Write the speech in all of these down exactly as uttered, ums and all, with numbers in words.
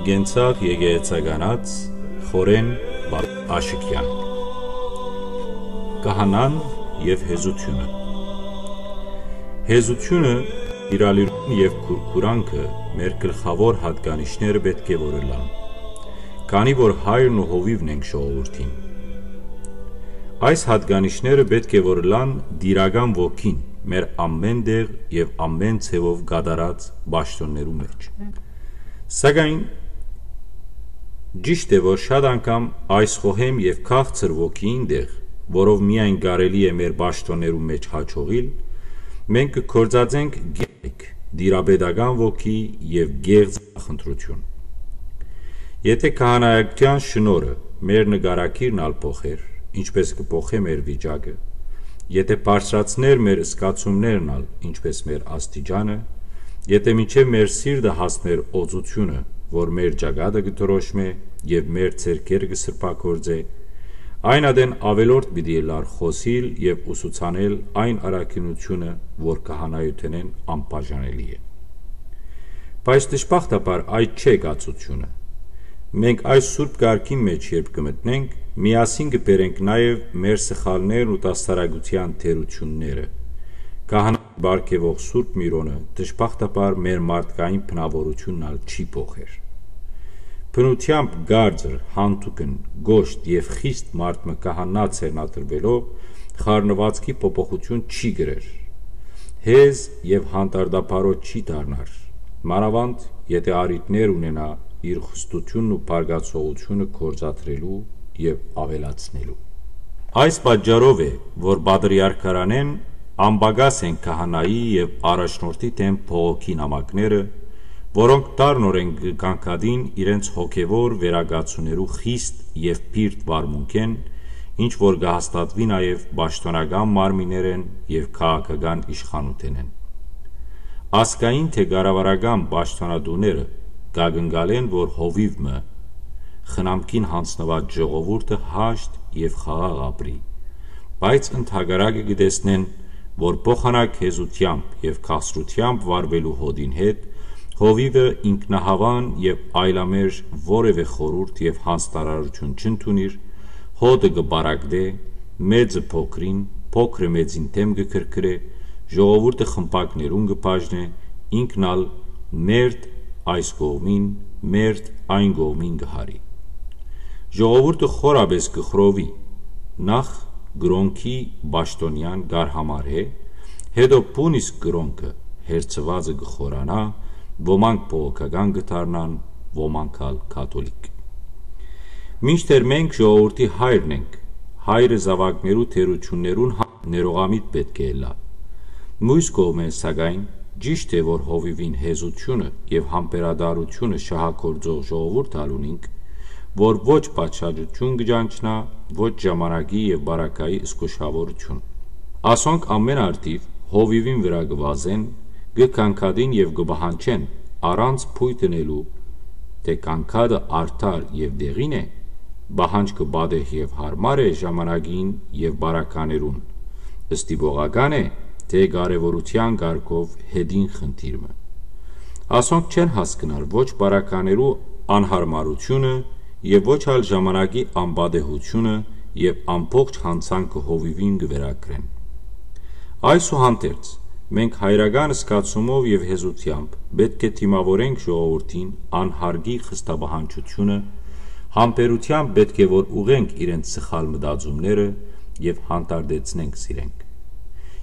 Կենցաղ եկեղեցականաց Խորեն Աշկեան։ Կահանան եւ հեզութիւնը։ Հեզութիւնը, իրալիրուն եւ քուրքուրանքը մեր գլխաւոր յատկանիշները պէտք է որ ըլլան, քանի որ հայրն ու հովիւն ենք ժողովուրդին։ Այս յատկանիշները պէտք է որ ըլլան տիրական ոգին մեր ամէն տեղ եւ ամէն ձեւով կատարած պաշտօններու մէջ։ Սակայն ճիշդ է, որ շատ անգամ այս խոհեմ եւ քաղցր ոգիին տեղ, որով միայն կարելի է մեր պաշտօներու մէջ յաջողիլ, մենք կը գործածենք գերեկ տիրապետական ոգի եւ կեղծ խնդրութիւն։ Եթէ քահանայական շնորհը մեր նկարագիրն ալ փոխեր, ինչպես կը փոխէ մեր վիճակը, եթէ բարձրացներ մեր զգացումներն ալ, ինչպես մեր աստիճանը, եթէ մինչեւ մեր սիրտը հասներ օծութիւնը, որ մեր ճակատը կը դրոշմէ եւ մեր ձեռքերը կը սրբագործէ, այն ատեն աւելորդ պիտի ըլլար խօսիլ եւ ուսուցանել այն առաքինութիւնը, որ քահանայութենէն անբաժանելի է։ Բայց դժբախտաբար այդ չէ կացութիւնը։ Մենք այս սուրբ կարգին մէջ երբ կը մտնենք, միասին կը բերենք նաեւ մեր սխալներն ու դաստարակութեան թերութիւնները։ Քահանայ պարգեւող Սուրբ Միրոնը դժբախտաբար մեր մարդկային բնաւորութիւնն ալ չի փոխեր։ Բնութեամբ կարծր, յանցուկն, կոշտ եւ խիստ մարդ մը քահանայ ձեռնադրուելով խառնուածքի փոփոխութիւն չի կրեր։ Հեզ եւ հանդարտաբարոյ չի դառնար, մանաւանդ եթէ առիթներ ունենայ իր խստութիւնն ու բարկացողութիւնը գործադրելու եւ աւելացնելու։ Այս պատճառով է, որ պատրիարքարանէն անպակաս են քահանայի եւ առաջնորդի դէմ բողոքի նամակները, որոնք դառնօրէն կը կանգատին իրենց հոգեւոր վերակացուներու խիստ եւ բիրտ վարմունքէն, ինչ որ կը հաստատուի նաեւ պաշտօնական մարմիններէն եւ քաղաքական իշխանութենէն։ Ազգային թէ կառավարական պաշտօնատուները կակնկալեն, որ հովիւ մը խնամքին յանձնուած ժողովուրդը հաշտ եւ խաղաղ ապրի, բայց ընդհակառակը կը տեսնեն, որ փոխանակ հեզութեամբ եւ քաղցրութեամբ վարուելու հօդին հետ հովիւը ինքնահաւան եւ այլամերժ որեւէ խորհուրդ եւ յանձնարարութիւն չընդունիր, հօդը կը պարակտէ, մեծը փոքրին, փոքրը մեծին դէմ կը քրքրէ, ժողովուրդը խմբակներուն կը բաժնէ, ինքն ալ մերթ այս կողմին, մերթ այն կողմին կը յարի։ Ժողովուրդը խորապէս կը խռովի, նախ կրօնքի պաշտօնեան կ'արհամարհէ, հետո բուն իսկ կրօնքը հերձուածը կը խորանայ, ոմանք բողոքական կը դառնան, ոմանք ալ կաթոլիկ։ Մինչդեռ մենք ժողովուրդի հայրն ենք, հայրը զաւակներու թերութիւններուն հա-, ներողամիտ պէտք է ըլլայ։ Միւս կողմէ, սակայն, ճիշդ է, որ հովիւին հեզութիւնը եւ համբերատարութիւնը շահագործող ժողովուրդ ալ ունինք, որ ոչ պատշաճութիւն կը ճանչնայ, ոչ ժամանակի եւ պարագայի զգուշաւորութիւն։ Ասոնք ամէն արդիւ հովիւին վրայ կը վազեն, կը կանգատին եւ կը պահանջեն, առանց փոյթ ընելու, թէ կանգատը արդար եւ տեղին է, պահանջքը պատեհ եւ յարմար է ժամանակին եւ պարագաներուն, ստիպողական է, թէ կարեւորութեան կարգով հետին խնդիր մը։ Ասոնք չեն հասկնար ոչ պարագաներու անյարմարութիւնը եւ ոչ ալ ժամանակի անպատեհութիւնը եւ ամբողջ յանցանքը հովիւին կը վերագրեն։ Այսուհանդերձ, մենք հայրական զգացումով եւ հեզութեամբ պէտք է դիմաւորենք ժողովուրդին անհարգի խստապահանջութիւնը, համբերութեամբ պէտք է որ ուղղենք իրենց սխալ մտածումները եւ հանդարտեցնենք զիրենք։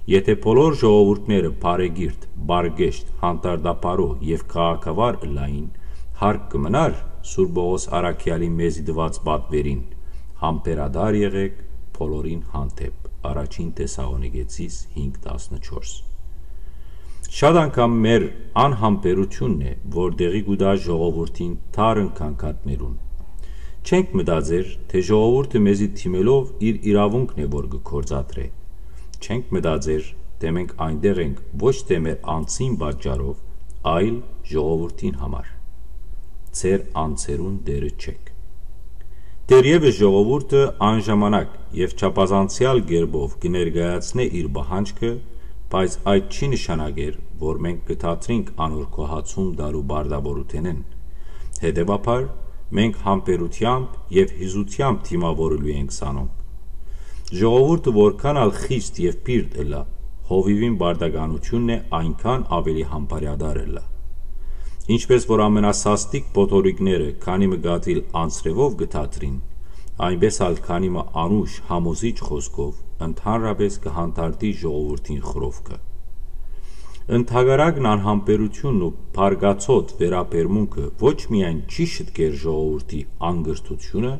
Եթէ բոլոր ժողովուրդները բարեկիրթ, պարկեշտ, հանդարտաբարոյ եւ քաղաքավար ըլլային, հարկ կը մնար Սուրբ Պողոս առաքեալին մեզի տուած պատվերին. «Համբերատար եղէք բոլորին հանդէպ»։ Առաջին Թեսաղոնիկեցիս հինգ տասնչորս։ Շատ անգամ մեր անհամբերութիւնն է, որ տեղի կու տայ ժողովուրդին թարն կանգատներուն։ Չենք մտածեր, թէ ժողովուրդը մեզի դիմելով իր իրաւունքն է, որ կը գործադրէ։ Չենք մտածեր, թէ մենք այնտեղ ենք ոչ թէ մեր անձին պատճառով, այլ ժողովուրդին համար։ Ձեր անձերուն տէրը չէք։ Դեռեւս ժողովուրդը անժամանակ եւ չափազանցեալ կերպով կը ներկայացնէ իր պահանջքը, բայց այդ չի նշանակեր, որ մենք կը դադրինք անոր գոհացում տալու պարտաւորութենէն, Հետեւաբար, մենք համբերութեամբ եւ հիզութեամբ դիմաւորելու ենք զանոնք։ Ժողովուրդը որքան ալ խիստ եւ պիղծ ըլլայ, հովիւին պարտականութիւնն է այնքան աւելի համբարեատար ըլլայ։ Ինչպէս որ ամենասաստիկ փոթորիկները քանի մը կաթիլ անձրեւով կը դադրին, այնպէս ալ քանի մը անուշ համոզիչ խօսքով ընդհանրապէս կը հանդարտի ժողովուրդին խռովքը։ Ընդհակառակն, անհամբերութիւնն ու բարկացոտ վերաբերմունքը ոչ միայն չի շտկեր ժողովուրդի անկրթութիւնը,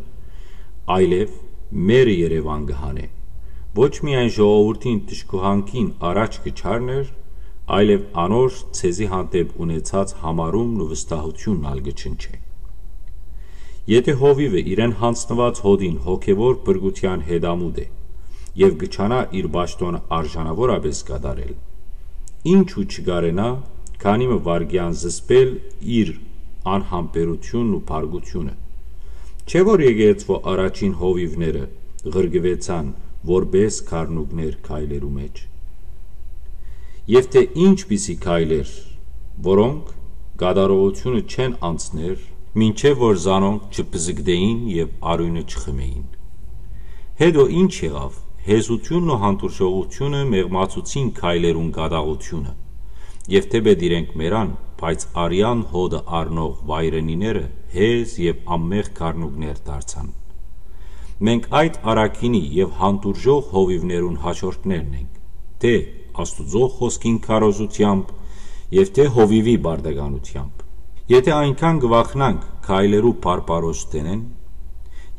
այլեւ մերը Երեւան կը հանէ։ Ոչ միայն ժողովուրդին դժգոհանքին առաջ կը չառներ, այլեւ անոր ձեզի հանդէպ ունեցած համարումն ու վստահութիւնն ալ կը չնչէ։ Եթէ հովիւը իրեն յանձնուած հօդին հոգեւոր փրկութեան հետամուտ է եւ կը չանայ իր պաշտօնը արժանաւորապէս կատարել, ինչու՞ չկարենայ քանի մը վայրկեան զսպել իր անհամբերութիւնն ու բարկութիւնը։ Չէ՞ որ եկեղեցւոյ առաջին հովիւները ղրկուեցան որպէս գառնուկներ քայլերու մէջ։ Եթէ ինչպիսի քայլեր, որոնք կատարողութիւնը չեն անցներ, մինչեւ որ զանոնք չբզկտէին եւ արիւնը չխմէին։ Հետո ի՞նչ եղաւ։ Հեզութիւնն ու հանդուրժողութիւնը մեղմացուցին քայլերուն կատաղութիւնը, եւ թէպէտ իրենք մեռան, բայց արեան հօդը առնող վայրենիները հեզ եւ անմեղ գառնուկներ դարձան։ Մենք այդ առաքինի եւ հանդուրժող հովիւներուն հաշորդներն ենք, թէ Աստուծոյ խօսքին քարոզութեամբ եւ թէ հովիւի պարտականութեամբ։ Եթէ այնքան կը վախնանք քայլերու բարբարոս դէնէն,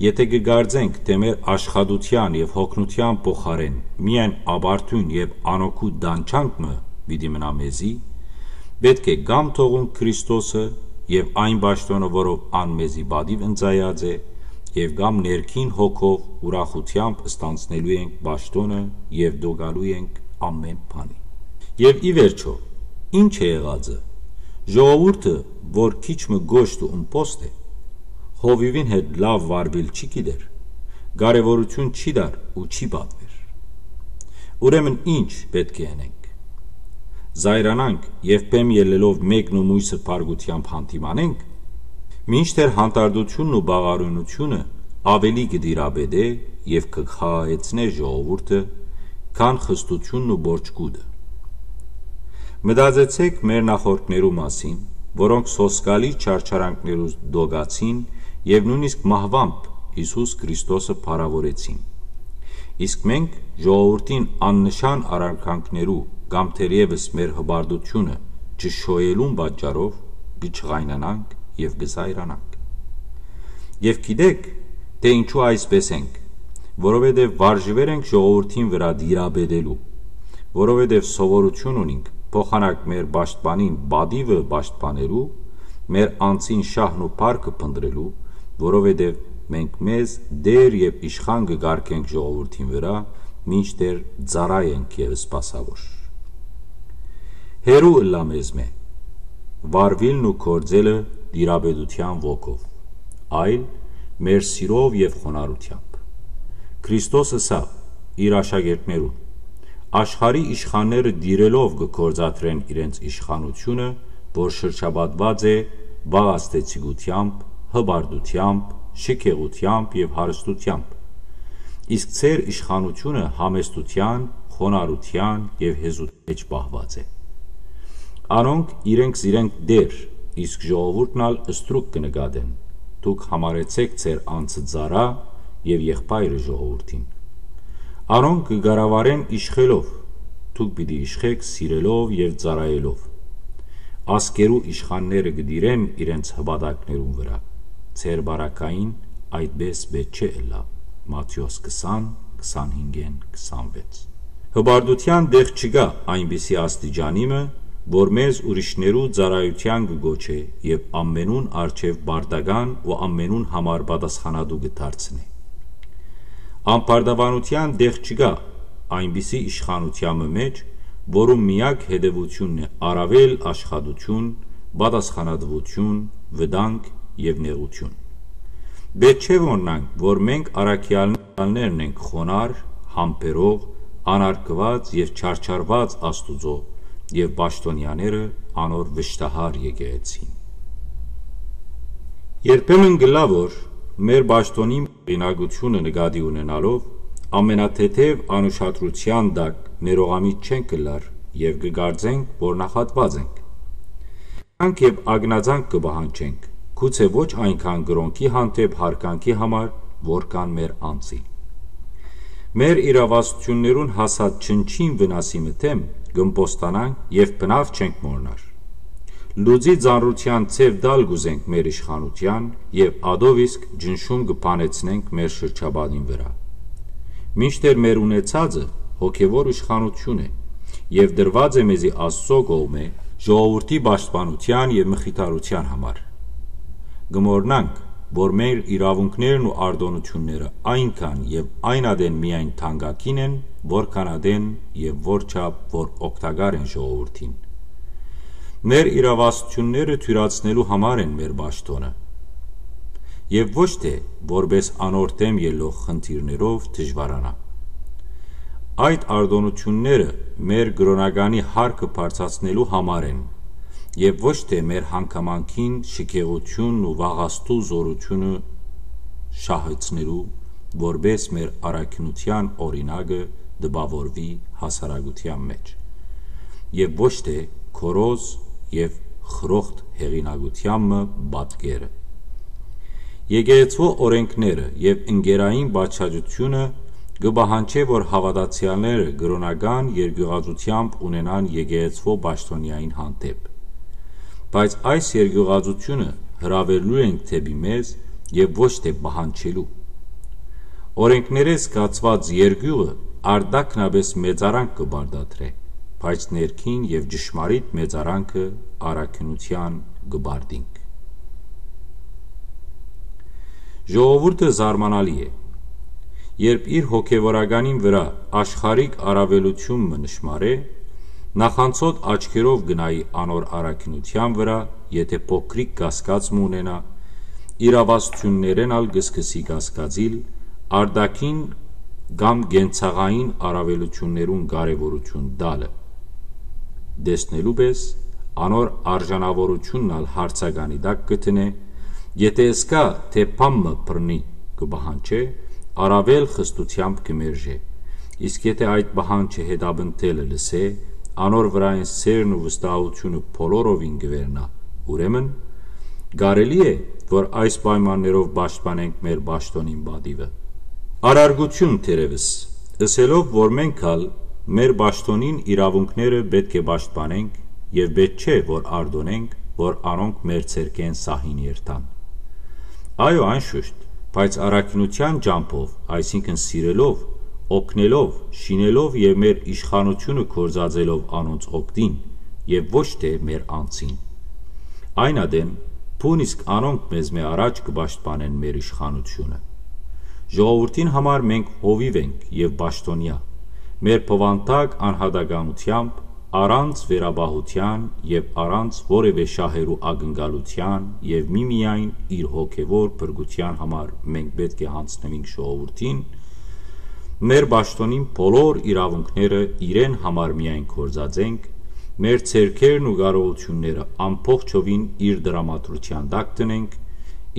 եթէ կը կարծենք, թէ մեր աշխատութեան եւ յոգնութեան փոխարէն միայն ապարդիւն եւ անօգուտ տանջանք մը պիտի մնայ մեզի, պէտք է կամ թողունք Քրիստոսը եւ այն պաշտօնը, որով ան մեզի պատիւ ընծայած է, եւ կամ ներքին հոգով ուրախութեամբ ստանձնելու ենք պաշտօնը եւ տոկալու ենք ամէն բանի։ Եւ ի վերջոյ, ի՞նչ է եղածը։ Ժողովուրդը, որ քիչ մը կոշտ ու ըմբոստ է, հովիւին հետ լաւ վարուիլ չի գիտեր, կարեւորութիւն չի տար ու չի պատուեր։ Ուրեմն ի՞նչ պէտք է ընենք։ Զայրանանք եւ բեմ ելլելով մեկն ու մոյսը բարկութեամբ հանդիմանենք, մինչդեռ հանդարտութիւնն ու բաղարունութիւնը աւելի կը տիրապետէ եւ կը խաղաղեցնէ ժողովուրդը, քան խստութիւնն ու պոռչկուտը։ Մտածեցէք մեր նախորդներու մասին, որոնք սոսկալի չարչարանքներու տոկացին եւ նոյնիսկ մահուամբ Յիսուս Քրիստոսը փառաւորեցին։ Իսկ մենք ժողովուրդին աննշան առարկանքներու կամ թերեւս մեր հպարտութիւնը չշոյելուն պատճառով կը ջղայնանանք եւ կը զայրանանք։ Եւ գիտեք, թէ ինչու այսպէս ենք, որովհետեւ վարժուեր ենք ժողովուրդին վրայ տիրապետելու, որովհետեւ սովորութիւն ունինք փոխանակ մեր պաշտպանին պատիւը պաշտպանելու, մեր անձին շահն ու փառքը փնտռելու, որովհետեւ մենք մեզ Տէր եւ իշխան կը կարգենք ժողովուրդին վրայ, մինչդեռ ծառայ ենք եւ սպասաւոր։ Հեռու ըլլայ մեզմէ վարուիլն ու գործելը տիրապետութեան ոգով, այլ մեր սիրով եւ խոնարհութեամբ։ Քրիստոս ըսաւ իր աշակերտներուն. «Աշխարհի իշխանները տիրելով կը գործադրեն իրենց իշխանութիւնը, որ շրջապատուած է վաղ ազդեցիկութեամբ, հպարտութեամբ, շքեղութեամբ եւ հարստութեամբ, իսկ ձեր իշխանութիւնը համեստութեան, խոնարհութեան եւ հեզութեան մէջ պահուած է։ Անոնք իրենք զիրենք Տէր, իսկ ժողովուրդն ալ ստրուկ կը նկատեն։ Դուք համարեցէք ձեր անձը ծառայ եւ եղբայրը ժողովուրդին։ Անոնք կը կառավարեն իշխելով, դուք պիտի իշխեք սիրելով եւ ծառայելով։ Ազգերու իշխանները կը տիրեն իրենց հպատակներուն վրայ։ Ձեր պարագային այդպէս պէտք չէ ըլլայ»։ Մատթէոս քսան, քսանհինգ, քսանվեց։ Հպարտութեան տեղ չկայ այնպիսի աստիճանի մը, որ մեզ ուրիշներու ծառայութեան կը կոչէ եւ ամենուն առջեւ պարտական ու ամենուն համար պատասխանատու կը դարձնէ։ Անպարտաւանութեան տեղ չկայ այնպիսի իշխանութեան մը մէջ, որու միակ հետեւութիւնն է առաւել աշխատութիւն, պատասխանատուութիւն, վտանգ եւ նեղութիւն։ Պէտք չէ մոռնանք, որ մենք առաքեալներն ենք խոնարհ, համբերող, անարգուած եւ չարչարուած Աստուծոյ եւ պաշտօնեաները անոր վշտահար եկեղեցին։ Երբեմն կ'ըլլայ որ մեր պաշտօնին հեղինակութիւնը նկատի ունենալով, ամենաթեթեւ անուշադրութեան տակ ներողամիտ չենք ըլլար եւ կը կարծենք որ նախատուած ենք։ Յանք եւ ակնածանք կը պահանջենք, գուցէ ոչ այնքան կրօնքի հանդէպ յարգանքի համար, որքան մեր անձին։ Մեր իրաւասութիւններուն հասած չնչին վնասի մը դէմ կ'ըմբոստանանք եւ բնաւ չենք մոռնար։ Լուծի ծանրութեան ձեւ տալ կ'ուզենք մեր իշխանութեան եւ ատով իսկ ճնշում կը բանեցնենք մեր շրջապատին վրայ։ Մինչդեռ մեր ունեցածը հոգեւոր իշխանութիւն է եւ տրուած է մեզի Աստծոյ կողմէ ժողովուրդի պաշտպանութեան եւ մխիթարութեան համար։ Կը մոռնանք, որ մեր իրաւունքներն ու արտօնութիւնները այնքան եւ այն ատեն միայն թանկագին են, որքան ատեն եւ որչափ որ օգտակար են ժողովուրդին։ Մեր իրաւասութիւնները թիւրացնելու համար են մեր պաշտօնը, եւ ոչ թէ որպէս անոր դէմ ելլող խնդիրներով դժուարանայ։ Այդ արտօնութիւնները մեր կրօնականի հարկը բարձրացնելու համար են, եւ ոչ թէ մեր հանգամանքին շքեղութիւնն ու վաղաստու զօրութիւնը շահեցնելու, որպէս մեր առաքինութեան օրինակը տպաւորուի հասարակութեան մէջ, եւ ոչ թէ քորոզ եւ խրոխտ հեղինակութեան մը պատկերը։ Եկեղեցւոյ օրէնքները եւ ընկերային պատշաճութիւնը կը պահանջէ, որ հաւատացեալները կրօնական երկիւղածութեամբ ունենան եկեղեցւոյ պաշտօնեային հանդէպ։ Բայց այս երկիւղածութիւնը հրաւերելու ենք դէպի մեզ եւ ոչ թէ պահանջելու։ Օրէնքներէ զգացուած երկիւղը արտաքնապէս մեծարանք կը պարտադրէ, բայց ներքին եւ ճշմարիտ մեծարանքը առաքինութեան կը պարտինք։ Ժողովուրդը զարմանալի է։ Երբ իր հոգեվորականին վրայ աշխարհիկ առաւելութիւն մը նշմարէ, նախանցոտ աչքերով կը նայի անոր առաքինութեան վրայ, եթէ փոքրիկ կասկած մը ունենայ, իրաւասութիւններէն ալ կը սկսի կասկածիլ արտաքին կամ կենցաղային առաւելութիւններուն կարեւորութիւն տալը։ Տեսնելու պէս, անոր արժանաւորութիւնն ալ հարցականի տակ կը դնէ, եթէ ըսկայ թէ բան մը բռնի կը պահանջէ, առաւել խստութեամբ կը մերժէ, իսկ եթէ այդ պահանջը հետապնդելը լսէ, անոր վրայ են սէրն ու վստահութիւնը բոլորովին կը վերնայ, ուրեմն կարելի՞ է, որ այս պայմաններով պաշտպանենք մեր պաշտօնին պատիւը։ Առարգութիւն թերեւս, ըսելով որ մենք ալ մեր պաշտօնին իրաւունքները պէտք է պաշտպանենք եւ պէտք չէ որ արտօնենք, որ անոնք մեր ձեռքէն սահին երթան։ Այո, անշուշտ, բայց առաքինութեան ճամբով, այսինքն սիրելով, օգնելով, շինելով եւ մեր իշխանութիւնը գործածելով անոնց օգտին եւ ոչ թէ մեր անձին։ Այն ատեն, բուն իսկ անոնք մեզմէ առաջ կը պաշտպանեն մեր իշխանութիւնը։ Ժողովուրդին համար մենք հովիւ ենք եւ պաշտօնեայ, մեր բովանդակ անհատականութեամբ, առանց վերապահութեան եւ առանց որեւէ շահերու ակնկալութեան եւ միմիայն իր հոգեվոր փրկութեան համար մենք պէտք է յանձնուինք ժողովուրդին, մեր պաշտօնին բոլոր իրաւունքները իրեն համար միայն գործածենք, մեր ձեռքերն ու կարողութիւնները ամբողջովին իր տրամադրութեան տակ դնենք,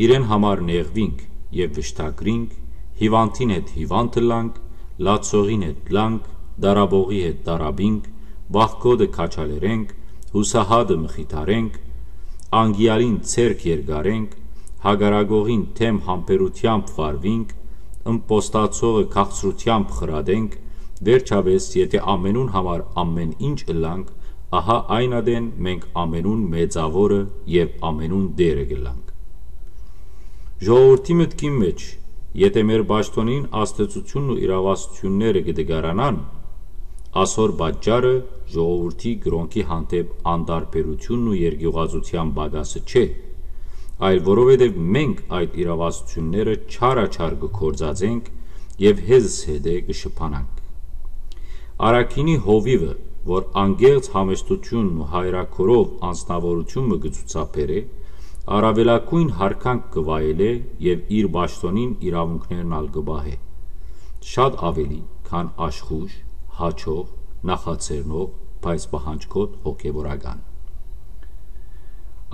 իրեն համար նեղուինք եւ վշտագրինք, հիւանդին հետ հիւանդ ըլլանք, լացողին հետ լանք, դարապողի հետ դարապինք, վախկոտը քաջալերենք, յուսահատը մխիթարենք, անկեալին ձեռք երկարենք, հակառակողին դէմ համբերութեամբ վարուինք, ըմբոստացողը քաղցրութեամբ խրատենք, վերջապէս, եթէ ամենուն համար ամեն ինչ ըլլանք, ահա այն ատեն մենք ամենուն մեծաւորը եւ ամենուն Տէրը կ'ըլլանք։ Ժողովուրդի մտքին մէջ, եթէ մեր պաշտօնին ազդեցութիւնն ու իրաւասութիւնները կը տկարանան, ասոր պատճառը ժողովուրդի կրօնքի հանդէպ անտարբերութիւնն ու երկիւղածութեան պակասը չէ, այլ որովհետեւ մենք այդ իրաւասութիւնները չարաչար կը գործածենք եւ հեզս հետէ կը շփանանք։ Առաքինի հովիւը, որ անկեղծ համեստութիւնն ու հայրաքորով անձնաւորութիւն մը կը ցուցաբերէ, առաւելագոյն յարգանք կը վայելէ եւ իր պաշտօնին իրաւունքներն ալ կը պահէ, շատ աւելի, քան աշխուժ, յաջող, նախաձեռնող, բայց պահանջկոտ հոգեվորական։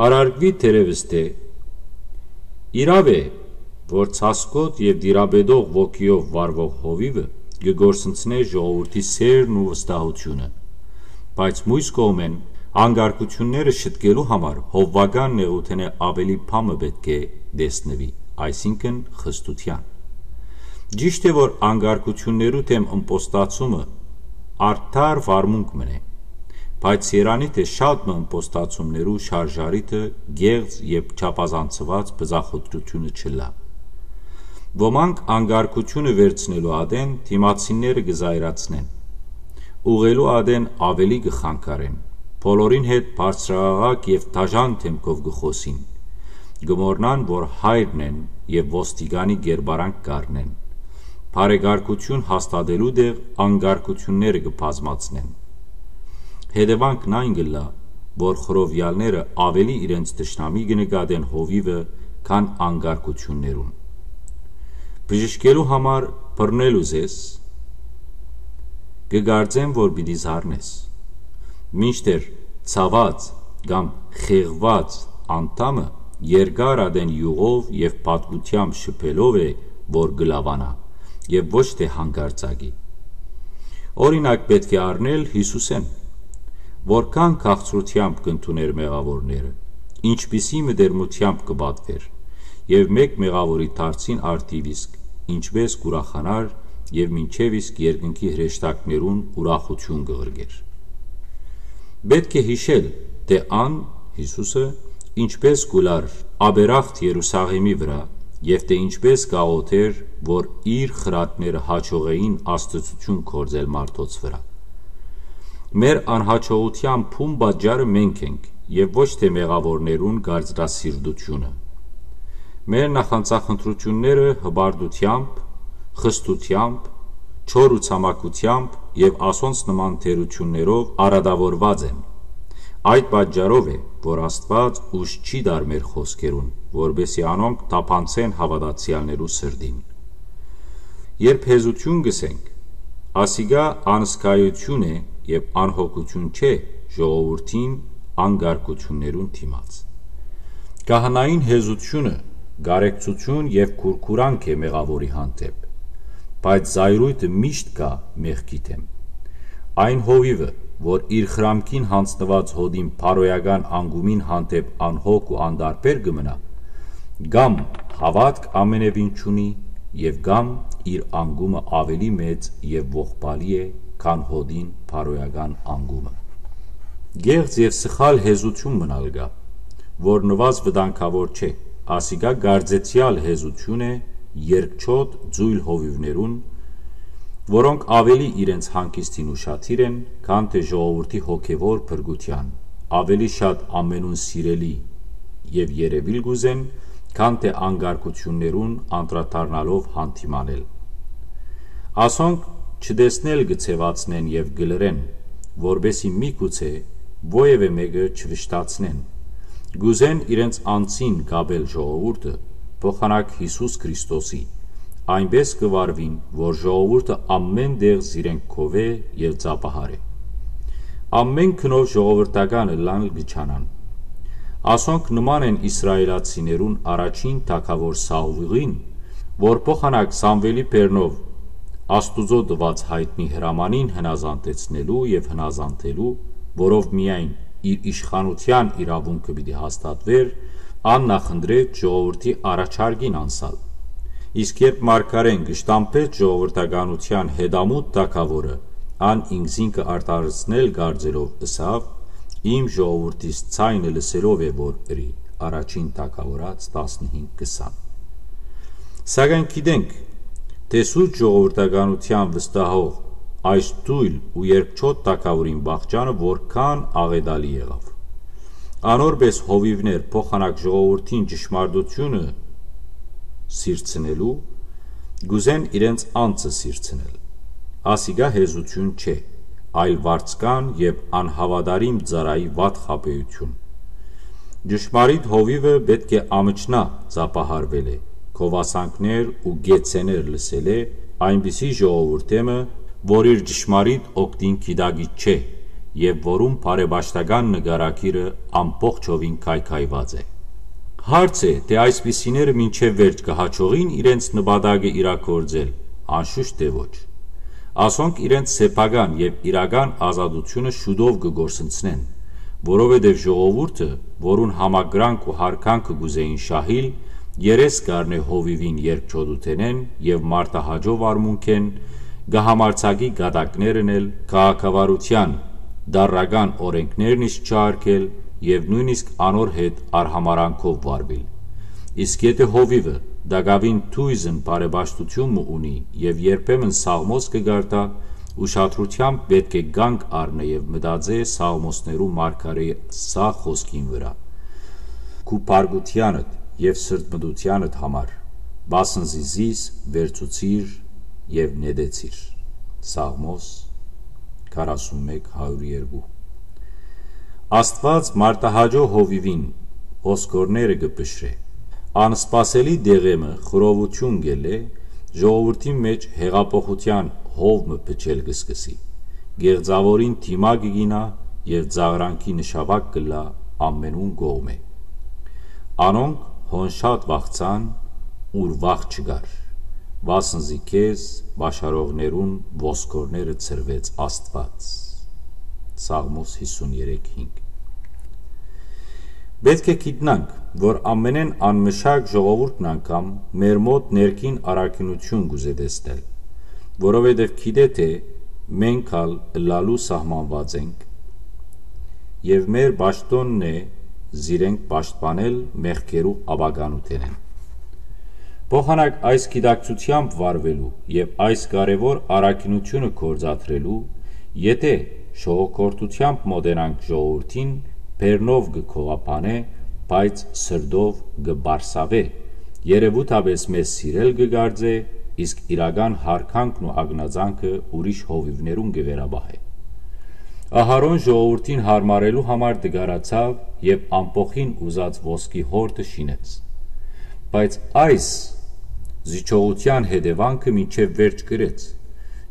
Առարգուի թերեւս թէ Իրաւ է, որ ցասկոտ եւ տիրապետող ոգիով վարուող հովիւը կը կորսնցնէ ժողովուրդի սէրն ու վստահութիւնը, բայց միւս կողմէն անկարգութիւնները շտկելու համար հովուական նեղութենէ աւելի բան մը պէտք է տեսնուի, այսինքն՝ խստութեան։ Ճիշդ է, որ անկարգութիւններու դէմ ըմպոստացումը արդար վարմունք մըն է, բայց երանի թէ շատ մը ըմպոստացումներու շարժառիթը կեղծ եւ չափազանցուած բզախոդրութիւնը չըլլայ։ Ոմանք անկարգութիւնը վերցնելու ատեն դիմացինները կը զայրացնեն, ուղղելու ատեն աւելի կը խանգարեն, բոլորին հետ բարձրաաղաղակ եւ դաժան դէմքով կը խօսին, կը մոռնան, որ հայրն են եւ ոստիկանի կերպարանք կ'առնեն, բարեկարգութիւն հաստատելու տեղ անկարգութիւնները կը բազմացնեն։ Հետեւանքն այն կ'ըլլայ, որ խռովեալները աւելի իրենց թշնամի կը նկատեն հովիւը, քան անկարգութիւններուն։ Բժշկելու համար բռնելու զեզ, կը կարծեմ, որ պիտի զարնես։ Մինչդեռ ցաւած կամ խեղուած անդամը երկար ատեն իւղով եւ պատկութեամբ շփելով է, որ կը լաւանայ եւ ոչ թէ հանկարծակի։ Օրինակ պէտք է առնել Յիսուսէն, որքան քաղցրութեամբ կ'ընդունէր մեղաւորները, ինչպիսի մտերմութեամբ կը պատուէր եւ մէկ մեղաւորի դարձին արդիւ իսկ ինչպէս կ'ուրախանար եւ մինչեւ իսկ երկնքի հրեշտակներուն ուրախութիւն կը ղրկէր։ Պէտք է յիշել, թէ ան, Յիսուսը, ինչպէս կ'ուլար աբերախտ Երուսաղէմի վրայ եւ թէ ինչպէս կ'աղօթէր, որ իր խրատները յաջողէին աստուածութիւն գործել մարդոց վրայ։ Մեր անյաջողութեան բուն պատճառը մենք ենք եւ ոչ թէ մեղաւորներուն կարծրասիրտութիւնը։ Մեր նախանձախնդրութիւնները հպարտութեամբ, խստութեամբ, չոր ու ցամաքութեամբ եւ ասոնց նման թերութիւններով արատաւորուած են։ Այդ պատճառով է, որ Աստուած ուժ չի տար մեր խօսքերուն, որպէսզի անոնք թափանցեն հաւատացեալներու սրտին։ Երբ հեզութիւն կ'ըսենք, ասիկա անզգայութիւն է եւ անհոգութիւն չէ ժողովուրդին անկարգութիւններուն դիմաց։ Քահանային հեզութիւնը կարեկցութիւն եւ քուրքուրանք է մեղաւորի հանդէպ, բայց զայրոյթը միշտ կայ մեղքի դէմ։ Այն հովիւը, որ իր խրամքին յանձնուած հօտին բարոյական անկումին հանդէպ անհոգ ու անտարբեր կը մնայ, կամ հաւատք ամենեւին չունի եւ կամ իր անկումը աւելի մեծ եւ ողբալի է, քան հօտին բարոյական անկումը։ Կեղծ եւ սխալ հեզութիւն մըն ալ կայ, որ նուազ վտանգաւոր չէ, ասիկա կարծեցեալ հեզութիւն է երկչոտ ձոյլ հովիւներուն, որոնք աւելի իրենց հանգիստին ուշադիր են, քան թէ ժողովուրդի հոգեւոր փրկութեան, աւելի շատ ամենուն սիրելի եւ երեւիլ կ'ուզեն, քան թէ անկարգութիւններուն անդրադառնալով հանդիմանել։ Ասոնք չտեսնել կը ձեւացնեն եւ կը լռեն, որպէսզի միգուցե ոեւէ մէկը չվշտացնեն։ Կ'ուզեն իրենց անձին կապել ժողովուրդը, փոխանակ Յիսուս Քրիստոսի, այնպէս կը վարուին, որ ժողովուրդը ամէն տեղ զիրենք քովէ եւ ծափահարէ։ Ամէն գնով ժողովրդական ըլլան կը չանան։ Ասոնք նման են իսրայելացիներուն առաջին թագաւոր Սաուղին, որ փոխանակ Սամուէլի բերնով Աստուծոյ տուած յայտնի հրամանին հնազանդեցնելու եւ հնազանդելու, որով միայն իր իշխանութեան իրաւունքը պիտի հաստատուէր, ան նախընտրեց ժողովրդի առաջարկին անսալ։ Իսկ երբ մարգարէն կշտամբեց ժողովրդականութեան հետամուտ թագաւորը, ան ինքզինքը արդարացնել կարծելով ըսաւ. «Իմ ժողովուրդիս ձայնը լսելով է որ ըրի», առաջին թագաւորաց տասնհինգ քսան։ Սակայն գիտենք, թէ սուրբ ժողովրդականութեան վստահող այս թոյլ ու երկչոտ թագաւորին վախճանը որքան աղետալի եղաւ։ Անոր պէս հովիւներ փոխանակ ժողովուրդին ճշմարտութիւնը սիրցնելու, կ'ուզեն իրենց անձը սիրցնել։ Ասիկա հեզութիւն չէ, այլ վարձկան եւ անհաւատարիմ ծառայի վատ խաբէութիւն։ Ճշմարիտ հովիւը պէտք է ամչնայ ծափահարուելէ, գովասանքներ ու գեցցէներ լսելէ, այնպիսի ժողովուրդէ մը, որ իր ճշմարիտ օգտին գիտակից չէ եւ որուն բարեպաշտական նկարագիրը ամբողջովին քայքայուած է։ Հարց է, թէ այսպիսիները մինչեւ վերջ կը յաջողի՞ն իրենց նպատակը իրագործել։ Անշուշտ թէ ոչ։ Ասոնք իրենց սեփական եւ իրական ազատութիւնը շուտով կը կորսնցնեն, որովհետեւ ժողովուրդը, որուն համակրանք ու յարգանքը կ'ուզէին շահիլ, երես կ'առնէ հովիւին երկչոտութենէն եւ մարտահաճոյ արմունքէն, կը համարձակի կատակներ ընել, քաղաքավարութեան տարրական օրէնքներն իսկ չհարգել եւ նոյնիսկ անոր հետ արհամարհանքով վարուիլ։ Իսկ եթէ հովիւը տակաւին դոյզն բարեպաշտութիւն մը ունի եւ երբեմն սաղմոս կը կարդայ, ուշադրութեամբ պէտք է կանգ առնէ եւ մտածէ սաղմոսներու մարգարէի սա խօսքին վրայ. «Քու բարկութեանդ եւ սրտմտութեանդ համար, վասն զի զիս վերցուցիր եւ նետեցիր»։ Սաղմոս քառասունմեկ, հարյուր երկու։ Աստուած մարտահաճոյ հովիւին ոսկորները կը փշրէ։ Անսպասելի դեղէ մը խռովութիւն կ'ելլէ, ժողովուրդին մէջ յեղափոխութեան հով մը փչել կը սկսի։ Կեղծաւորին դիմակ կը գինայ եւ ծաղրանքի նշաւակ կ'ըլլայ ամենուն կողմէ։ Անոնք հոն շատ վախցան, ուր վախ չկար, վասն զի քեզ պաշարողներուն ոսկորները ցրուեց Աստուած։ Սաղմոս հիսուն երեք հինգ։ Պէտք է գիտնանք, որ ամենէն անմշակ ժողովուրդն անգամ մեր մօտ ներքին առաքինութիւն կ'ուզէ տեսնել, որովհետեւ գիտէ թէ մենք ալ ըլլալու սահմանուած ենք, եւ մեր պաշտօնն է զիրենք պաշտպանել մեղքերու ապականութենէն։ Փոխանակ այս գիտակցութեամբ վարուելու եւ այս կարեւոր առաքինութիւնը գործադրելու, եթէ շողոքորթութեամբ մօտենանք ժողովուրդին, բեռնով կը գովաբանէ, բայց սրտով կը պարսաւէ, երեւութապէս մեզ սիրել կը կարծէ, իսկ իրական յարգանքն ու ակնածանքը ուրիշ հովիւներուն կը վերապահէ։ Ահարոն ժողովուրդին յարմարելու համար տկարացաւ եւ ամբոխին ուզած ոսկի հորտը շինեց։ Բայց այս զիջողութեան հետեւանքը մինչեւ վերջ կրեց։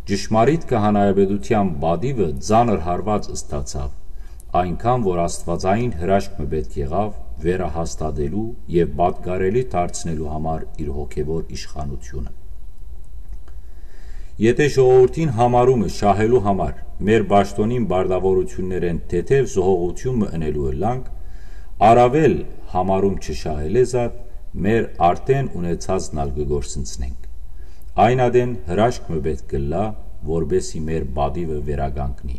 Ճշմարիտ քահանայապետութեան պատիւը ծանր հարուած ստացաւ, այնքան որ աստուածային հրաշք մը պէտք եղաւ վերահաստատելու եւ պատկառելի դարձնելու համար իր հոգեւոր իշխանութիւնը։ Եթէ ժողովուրդին յամարումը շահելու համար մեր պաշտօնին պարտաւորութիւններէն թեթեւ զոհողութիւն մը ընելու ըլլանք, առաւել յամարում չշահելէ զատ մեր արդէն ունեցածն ալ կը կորսնցնենք։ Այն ատեն հրաշք մը պէտք կ'ըլլայ, որպէս զի մեր պատիւը վերականգնի։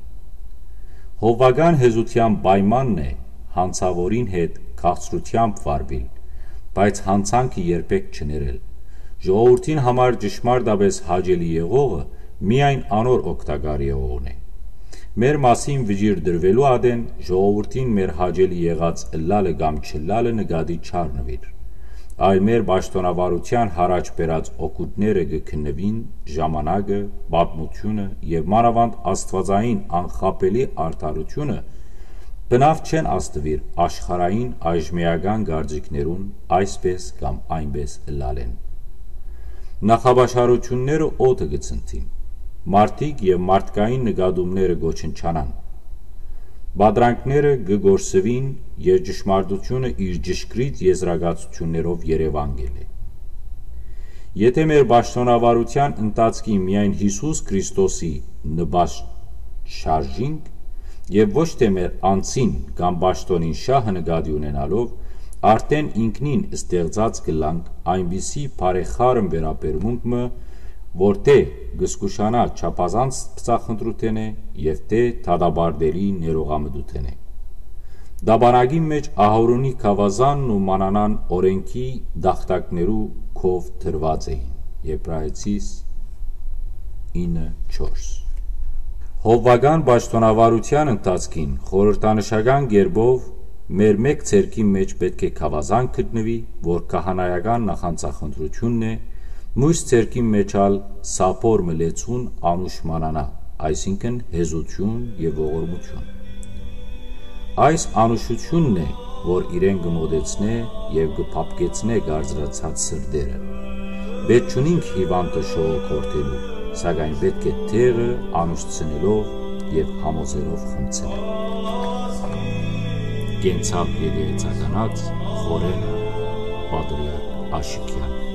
Հովվական հեզութեան պայմանն է յանցաւորին հետ քաղցրութեամբ վարուիլ, բայց յանցանքը երբեք չներել։ Ժողովուրդին համար ճշմարտապէս հաճելի եղողը միայն անոր օգտակար եղողն է։ Մեր մասին վճիռ տրուելու ատեն ժողովուրդին մեր հաճելի եղած ըլլալը կամ չըլլալը նկատի չառնուիր, այլ մեր պաշտօնավարութեան յառաջ բերած օգուտները կը քննուին, ժամանակը, պատմությունը եւ մանաւանդ աստուածային անխաբելի արդարութիւնը բնաւ չեն ազդուիր աշխարհային այժմէական կարծիքներուն այսպես կամ այնպես ըլլալէն։ Նախապաշարութիւնները օդը կը ցնդին, մարդիկ եւ մարդկային նկատումները կ'ոչնչանան, պատրանքները կը կորսուին եւ ճշմարտութիւնը իր ճշգրիտ եզրակացութիւններով երեւան կ'ելլէ։ Եթէ մեր պաշտօնավարութեան ընթացքին միայն Յիսուս Քրիստոսի նպաստ շարժինք եւ ոչ թէ մեր անձին կամ պաշտօնին շահը նկատի ունենալով, արդէն ինքնին ստեղծած կ'ըլլանք այնպիսի բարեխառն վերաբերմունք մը, որ թէ կը զգուշանայ չափազանց բծախնդրութենէ եւ թէ դատապարտելի ներողամտութենէ։ Տապանակին մէջ Ահորոնի գաւազանն ու մանանան օրէնքի տախտակներու քով դրուած էին։ Եբրայեցիս ինը չորս։ Հովվական պաշտօնավարութեան ընթացքին խորհրդանշական կերպով մեր մէկ ձեռքին մէջ պէտք է գաւազան գտնուի, որ քահանայական նախանձախնդրութիւնն է, մյուս ձեռքին մէջ ալ սափոր մը լեցուն անուշ մանանա, այսինքն հեզութիւն եւ ողորմութիւն։ Այս անուշութիւնն է, որ իրեն կը մօտեցնէ եւ կը փափկեցնէ կարծրացած սրտերը։ Պէտք չունինք հիւանդը շողոքորթելու, սակայն պէտք է դեղը անուշցնելով եւ համոզելով խմցնել։ Կենցաղ եկեղեցականաց խորհենը։ պատրիարք Աշիկեան։